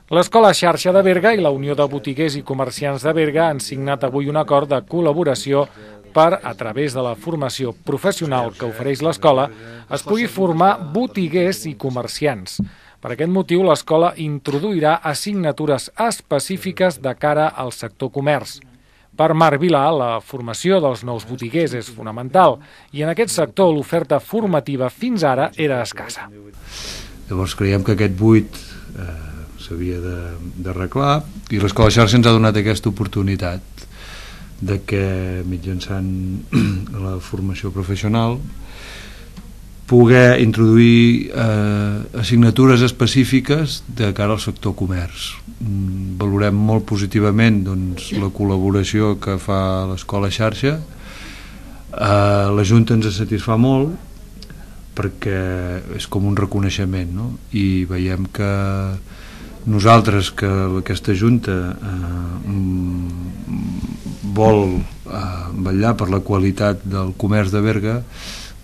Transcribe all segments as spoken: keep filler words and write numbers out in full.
L'Escola Xarxa de Berga i la Unió de Botiguers i Comerciants de Berga han signat avui un acord de col·laboració per, a través de la formació professional que ofereix l'escola, es pugui formar botiguers i comerciants. Per aquest motiu, l'escola introduirà assignatures específiques de cara al sector comerç. Per Marc Vilà, la formació dels nous botiguers és fonamental i en aquest sector l'oferta formativa fins ara era escassa. Llavors creiem que aquest buit eh, s'havia d'arreglar i l'Escola Xarxa ens ha donat aquesta oportunitat de que mitjançant la formació professional poder introduir eh, assignatures específiques de cara al sector comerç. Valorem molt positivament doncs, la col·laboració que fa l'Escola Xarxa. Eh, la Junta ens satisfà molt perquè és com un reconeixement, no? I veiem que nosaltres, que aquesta Junta eh, vol eh, vetllar per la qualitat del comerç de Berga,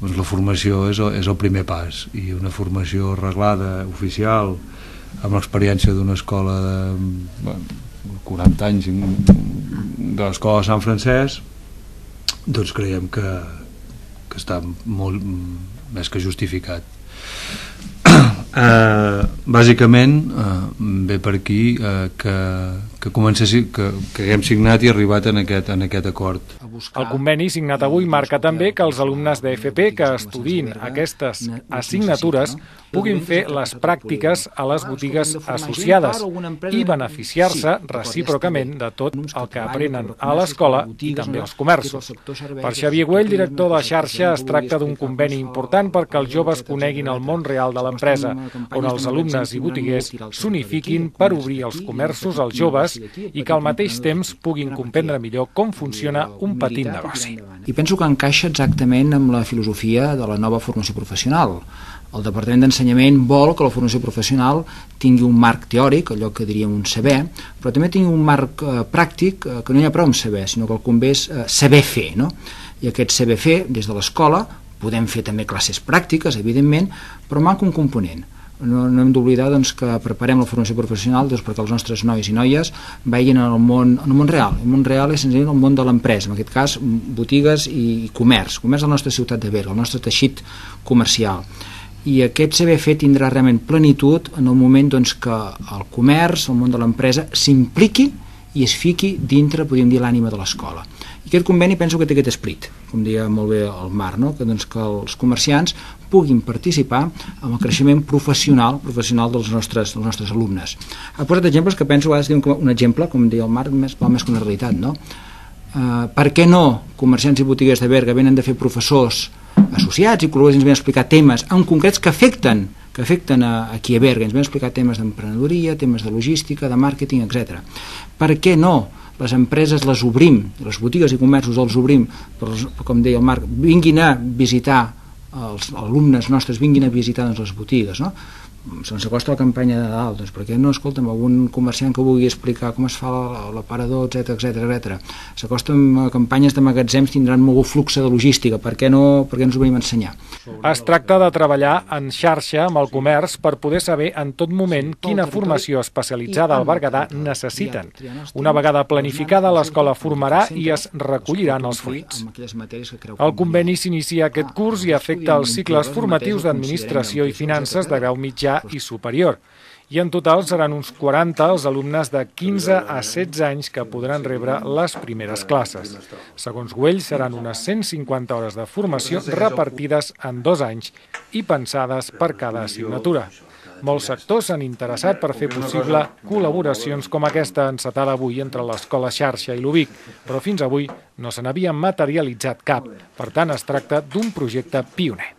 doncs la formació és el, és el primer pas, i una formació reglada, oficial, amb l'experiència d'una escola de bueno, quaranta anys de l'escola de Sant Francesc, doncs creiem que, que està molt més que justificat. Uh, bàsicament uh, ve per aquí uh, que, que, comencessi, que, que haguem signat i arribat en aquest, en aquest acord. El conveni signat avui marca també que els alumnes de F P que estudiïn aquestes assignatures puguin fer les pràctiques a les botigues associades i beneficiar-se recíprocament de tot el que aprenen a l'escola i també als comerços. Per Xavier Güell, director de xarxa, es tracta d'un conveni important perquè els joves coneguin el món real de l'empresa, on els alumnes i botiguers s'unifiquin per obrir els comerços als joves i que al mateix temps puguin comprendre millor com funciona un petit negoci. I penso que encaixa exactament amb la filosofia de la nova formació professional. El Departament d'Ensenyament vol que la formació professional tingui un marc teòric, allò que diríem un saber, però també tingui un marc eh, pràctic, eh, que no hi ha prou amb saber, sinó que el convé és eh, saber fer, no? I aquest saber fer, des de l'escola, podem fer també classes pràctiques, evidentment, però manca un component. No, no hem d'oblidar doncs, que preparem la formació professional doncs, perquè els nostres nois i noies vegin en el món, en el món real. El món real és senzillament el món de l'empresa, en aquest cas botigues i comerç, comerç de la nostra ciutat de Berga, el nostre teixit comercial. I aquest saber fer tindrà realment plenitud en el moment doncs, que el comerç, el món de l'empresa, s'impliqui i es fiqui dintre, podríem dir, l'ànima de l'escola. I aquest conveni penso que té aquest esperit, com deia molt bé el Marc, no? que, doncs, que els comerciants puguin participar en el creixement professional professional dels nostres, dels nostres alumnes. Ha posat exemples que penso que un exemple, com deia el Marc, més, val més que una realitat. No? Uh, per què no comerciants i botiguers de Berga venen de fer professors associats i col·laboradors, ens ven a explicar temes en concrets que afecten que afecten a, aquí a Berga, ens ven a explicar temes d'emprenedoria, temes de logística, de màrqueting, etcètera. Per què no les empreses les obrim, les botigues i comerços els obrim, però, com deia el Marc, vinguin a visitar, els alumnes nostres vinguin a visitar doncs, les botigues, no? Se'ns acosta la campanya de Nadal, doncs perquè no, escolta'm, algun comerciant que vulgui explicar com es fa l'aparador, etcètera, etcètera, etcètera. S'acosten a campanyes de magatzems, tindran molt flux de logística, per què no, per què ens ho venim a ensenyar? Es tracta de treballar en xarxa amb el comerç per poder saber en tot moment quina formació especialitzada al Berguedà necessiten. Una vegada planificada, l'escola formarà i es recolliran els fruits. El conveni s'inicia aquest curs i afecta els cicles formatius d'administració i finances de grau mitjà i superior. I en total seran uns quaranta els alumnes de quinze a setze anys que podran rebre les primeres classes. Segons Güell, seran unes cent cinquanta hores de formació repartides en dos anys i pensades per cada assignatura. Molts sectors s'han interessat per fer possible col·laboracions com aquesta encetada avui entre l'Escola Xarxa i l'U B I C, però fins avui no se n'havia materialitzat cap. Per tant, es tracta d'un projecte pioner.